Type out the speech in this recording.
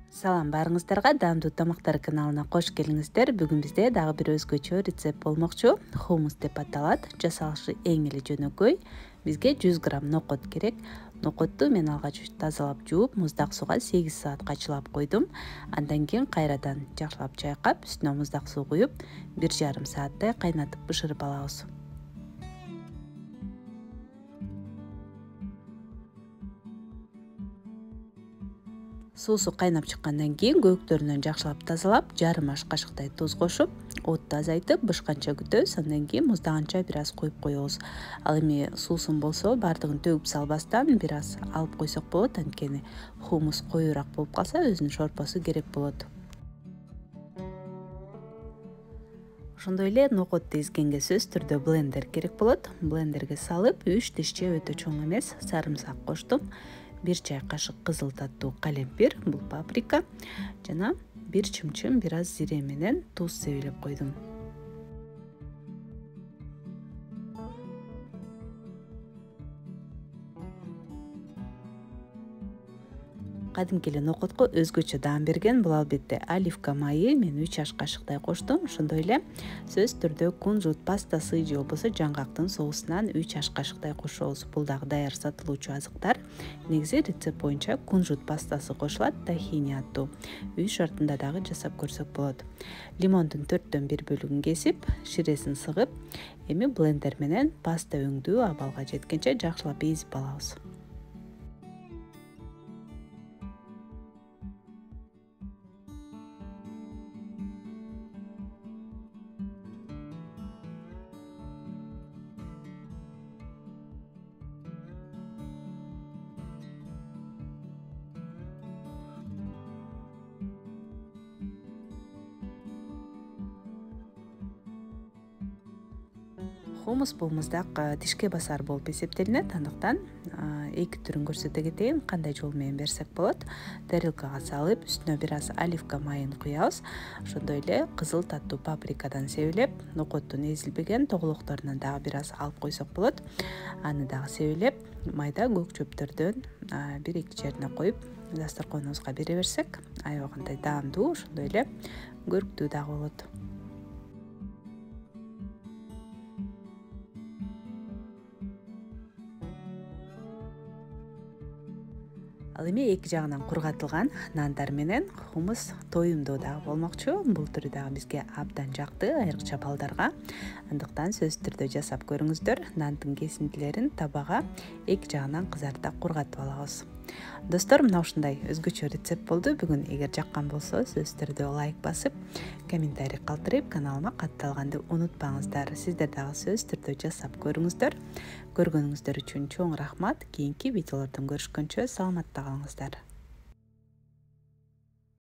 Салам барыңыздарга, даамдуу тамактар каналына кош келиңиздер. Бүгүн бизде дагы бир өзгөчө рецепт болмокчу. Хумус деп аталат. Жасалышы эң эле жөнөкөй. Бизге 100 грамм нокот керек. Нокотту мен алгач тазалап жууп, муздак сууга 8 саатка чылап койдум. Андан кийин кайрадан жакшылап чайкап, үстүнө муздак суу куюп, 1,5 сааттай кайнатып бышырып алабыз. Суусу кайнап чыккандан кийин көктөрүнөн жакшылап тазалап, жарым аш кашыктай туз кошуп, отту азайтып, бышканча күтөбүз. Андан кийин муздаганча бир аз коюп коебуз. Ал эми суусун болсо, баардыгын төгүп салбастан бир аз алып койсок болот. Анткени хумус коюураак болуп калса, өзүнүн шорпосу керек болот. Ошондой эле нокотту эзгенге сөзсүз түрдө блендер керек болот. Блендерге салып, 3 тишче өтө чоң эмес сарымсак коштум. 1 чай кашык кызыл таттуу калемпир, бул паприка жана 1 чымчым бир аз зире менен туз себелеп койдум. Кадимки эле нокотко өзгөчө даам берген бул албетте оливка майы. Мен 3 аш кашыктай коштум. Ошондой эле сөзсүз түрдө кунжут пастасы же болбосо жаңгактын соусунан 3 аш кашыктай кошобуз. Бул дагы даяр сатылуучу азыктар. Негизи рецепт боюнча кунжут пастасы кошулат, тахини аттуу. Үй шартында дагы жасап көрсөк болот. Лимондун 4төн 1 бөлүгүн кесип, ширесин сыгып, эми блендер менен паста өңдүү абалга жеткенче жакшылап эзип алабыз. Хумус бул муздак тишке басар болуп эсептелинет. Андыктан эки түрүн көрсөтө кетейин, кандай жол менен берсек болот. Тарелкага салып, үстүнө бир аз оливка майын куябыз. Ошондой эле кызыл таттуу паприкадан себелеп, нокоттун эзилбеген тоголокторунан дагы бир аз алып койсок болот. Аны дагы себелеп, майда көк чөптөрдөн 1-2 жерине коюп, дасторконубузга бере берсек, аябай кандай даамдуу, ошондой эле көрктүү дагы болот. Ал эми эки жагынан кургатылган нандар менен хумус тоюмдуу дагы болмокчу. Бул түрү дагы бизге абдан жакты, айрыкча балдарга. Андыктан сөзсүз түрдө жасап көрүңүздөр. Нандын кесиндилерин табага эки жагынан кызартып кургатып алабыз. Достор, мына ушундай өзгөчө рецепт болду. Бүгүн эгер жаккан болсо, сөзсүз түрдө лайк басып, комментарий калтырып, каналыма катталганды унутпаңыздар. Сиздер дагы сөзсүз түрдө жасап көрүңүздөр. Көргөнүңүздөр үчүн чоң рахмат. Кийинки видеолордон көрүшкөнчө саламатта калыңыздар.